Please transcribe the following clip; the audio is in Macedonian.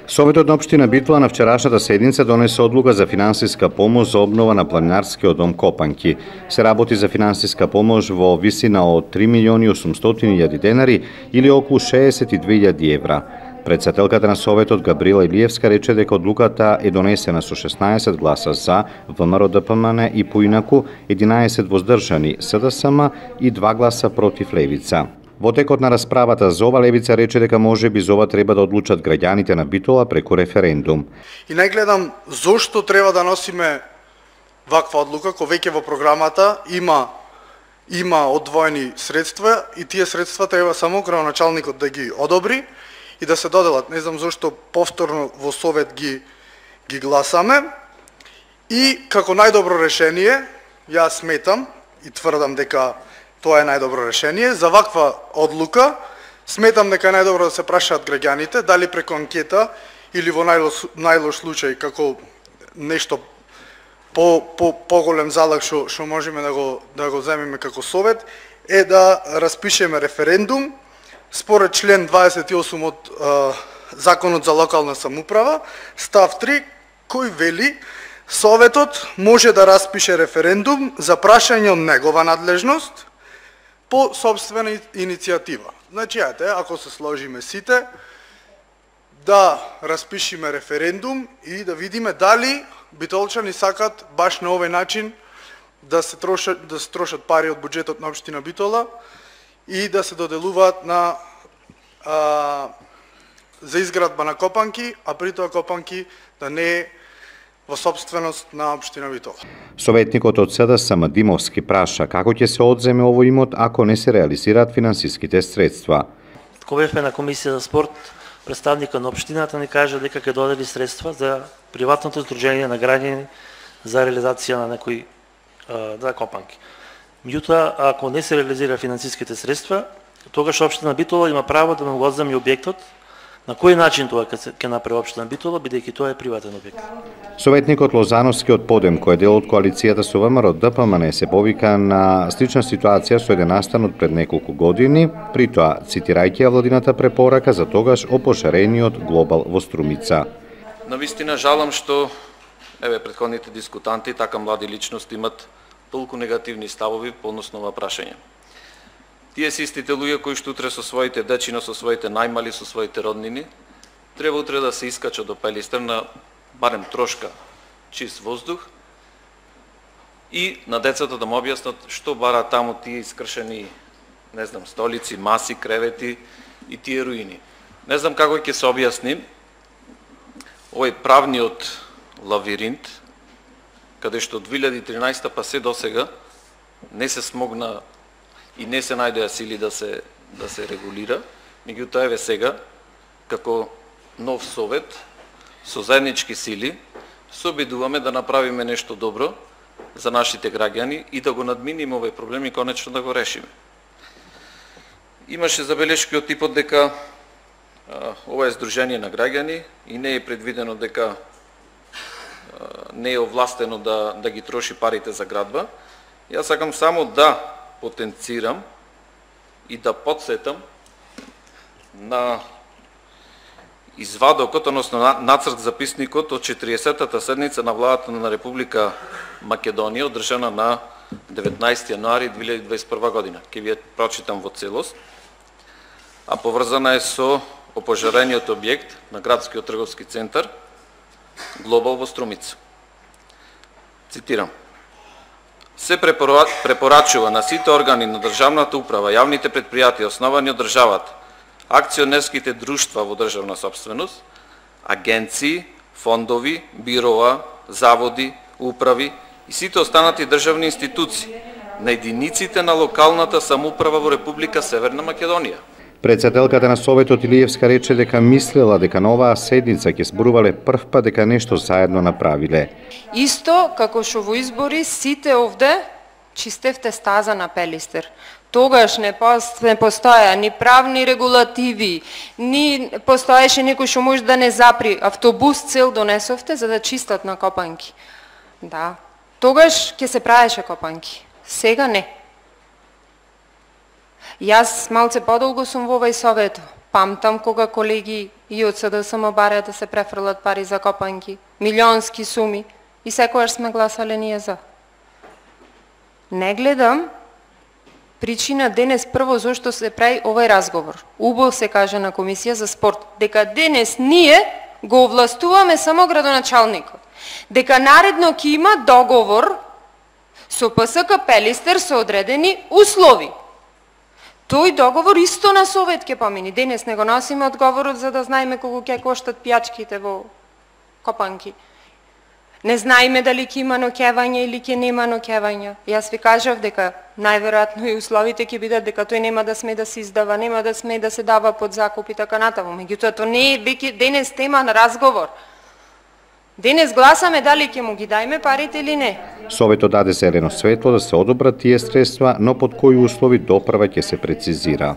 Советот на општина Битола на вчерашната седница донесе одлука за финансиска помош за обнова на планинарскиот дом Копанки. Се работи за финансиска помош во висина од 3.800.000 денари или околу 62.000 евра. Председателката на Советот Габриела Илиевска рече дека одлуката е донесена со 16 гласа за, ВМРО ДПМН и поинаку 11 воздржани СДСМ и 2 гласа против Левица. Во текот на расправата за ова Левица рече дека можеби за ова треба да одлучат граѓаните на Битола преку референдум. И не гледам зошто треба да носиме ваква одлука, кој веќе во програмата има одвоени средства и тие средства треба само градоначалникот да ги одобри и да се доделат. Не знам зошто повторно во Совет ги гласаме. И како најдобро решение, јас сметам и тврдам дека тоа е најдобро решение. За ваква одлука сметам дека е најдобро да се прашаат граѓаните, дали преку анкета или во најлош случај како нешто поголем залог што можеме да го земеме како Совет, е да распишеме референдум според член 28 од Законот за локална самоуправа, став 3, кој вели Советот може да распише референдум за прашање од негова надлежност по собствена иницијатива. Значи, ако се сложиме сите, да распишиме референдум и да видиме дали битолчани сакат баш на овој начин да се трошат пари од буџетот на општина Битола и да се доделуваат за изградба на Копанки, а при тоа Копанки да не е во собственост на општина Битола. Советникот од СДСМ Димовски праша како ќе се одземе овој имот ако не се реализираат финансиските средства. Кога бевме на комисија за спорт, представникот на општината ни кажа дека ќе додели средства за приватното здружение на граѓани за реализација на некои Копанки. Меѓутоа, ако не се реализира финансиските средства, тогаш општина Битола има право да му го одземе објектот. На кој начин тоа ќе направи општина Битола, бидејќи тоа е приватен објект? Советникот Лозановски од Подем, кој е дел од коалицијата со ВМРО ДПМН, се повика на слична ситуација со еден настан од пред неколку години, при тоа цитирајќи ја владината препорака за тогаш опошарениот глобал во Струмица. Навистина жалам што претходните дискутанти, така млади личности имат толку негативни ставови по односно ова прашање. Тие се истите луѓе кои што утре со своите дечино, со своите најмали, со своите роднини, треба утре да се искачат до Пелистер на барем трошка чист воздух и на децата да му објаснат што бара таму тие искршени, не знам, столици, маси, кревети и тие руини. Не знам како ќе се објасни овој правниот лавиринт, каде што од 2013 па се досега не се смогна и не се најдоа сили да се регулира, меѓутоа еве сега, како нов Совет, со заеднички сили, се обидуваме да направиме нешто добро за нашите граѓани и да го надминиме овој проблем и конечно да го решиме. Имаше забелешки од типот дека ова е здружение на граѓани и не е предвидено дека не е овластено да ги троши парите за градба. Јас сакам само да потенцирам и да подсетам на извадокот, односно нацрт записникот од 40-та седница на владата на Република Македонија, одржана на 19 јануари 2021 година. Ќе ви ја прочитам во целост, а поврзана е со опожарениот објект на градскиот трговски центар Глобал во Струмица. Цитирам: се препорачува на сите органи на државната управа, јавните предпријатија основани од државата, акционерските друштва во државна собственост, агенции, фондови, бироа, заводи, управи и сите останати државни институции на единиците на локалната самоуправа во Република Северна Македонија. Председателката на Советот Илиевска рече дека мислела дека на оваа седница ќе зборувале прв пат дека нешто заедно направиле. Исто како што во избори сите овде чистевте стаза на Пелистер. Тогаш не постоја ни правни регулативи, ни постоеше некој што може да не запри. Автобус цел донесовте за да чистат на Копанки. Да, тогаш ќе се правеше Копанки. Сега не. Јас малце подолго сум во овој Совет. Памтам кога колеги и од СДСМ бараат да се префрлат пари за копанки, милионски суми, и секогаш сме гласале ние за. Не гледам причина денес прво зашто се прави овој разговор. Убаво се каже на Комисија за спорт дека денес ние го овластуваме само градоначалникот. Дека наредно ќе има договор со ПСК Пелистер со одредени услови. Тој договор исто на Совет ќе помини. Денес не го носиме одговорот за да знаеме колку ќе коштат пијачките во копанки. Не знаеме дали ќе има ноќевање или ќе нема ноќевања. Јас ви кажав дека најверојатно и условите ќе бидат дека тој нема да сме да се издава, нема да сме да се дава под закуп и така натаму. Меѓутоа тоа не е веќе денес тема на разговор. Денес гласаме дали ќе му ги дајме парите или не. Советот даде зелено светло да се одобрат тие средства, но под кои услови допрва ќе се прецизира.